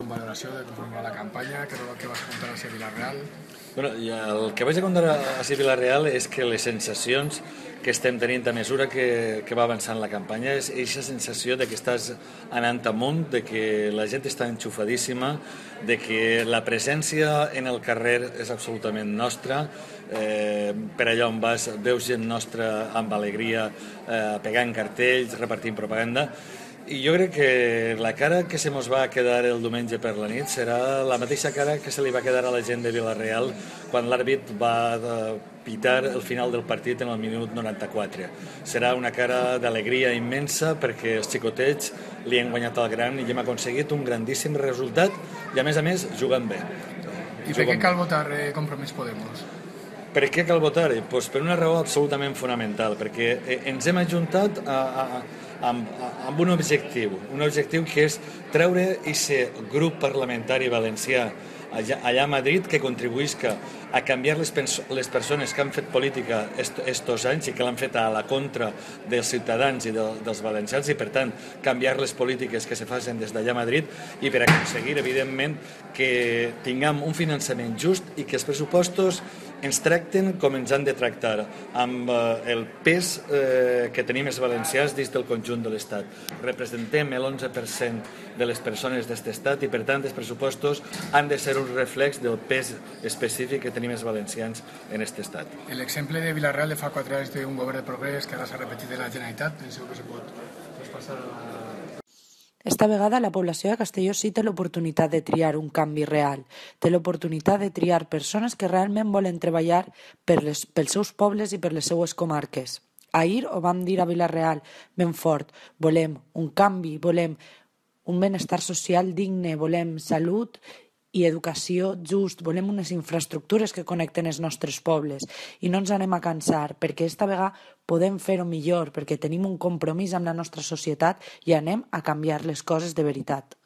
Valoració de com va la campanya, què és el que vas contar a Vila-real? Bueno, el que vaig a contar a Vila-real és que les sensacions que estem tenint a mesura que va avançant la campanya és aquesta sensació de que estàs anant amunt, de que la gent està enxufadíssima, de que la presència en el carrer és absolutament nostra, per allà on vas veus gent nostra amb alegria pegant cartells, repartint propaganda. I jo crec que la cara que se mos va quedar el diumenge per la nit serà la mateixa cara que se li va quedar a la gent de Vila-real quan l'àrbit va pitar el final del partit en el minut 94. Serà una cara d'alegria immensa perquè els xicotets li han guanyat al gran i hem aconseguit un grandíssim resultat i a més jugant bé. I per què cal votar Compromís Podemos? Per què cal votar-hi? Pues per una raó absolutament fonamental, perquè ens hem ajuntat amb un objectiu que és treure aquest grup parlamentari valencià allà a Madrid que contribuïsca a canviar les persones que han fet política estos anys i que l'han fet a la contra dels ciutadans i dels valencians i per tant canviar les polítiques que se facin des d'allà a Madrid i per aconseguir evidentment que tinguem un finançament just i que els pressupostos ens tracten com ens han de tractar, amb el pes que tenim els valencians dins del conjunt de l'Estat. Representem l'11% de les persones d'aquest estat i per tant els pressupostos han de ser un reflex del pes específic que tenim els valencians en aquest estat. L'exemple de Vila-real de fa 4 anys d'un govern de progrés que ara s'ha repetit de la Generalitat, penseu que se pot traspassar a la... Esta vegada la població de Castelló sí té l'oportunitat de triar un canvi real, té l'oportunitat de triar persones que realment volen treballar pels seus pobles i per les seues comarques. Ahir ho vam dir a Vila-real ben fort, volem un canvi, volem un benestar social digne, volem salut i educació just, volem unes infraestructures que connecten els nostres pobles i no ens anem a cansar perquè esta vegada podem fer-ho millor perquè tenim un compromís amb la nostra societat i anem a canviar les coses de veritat.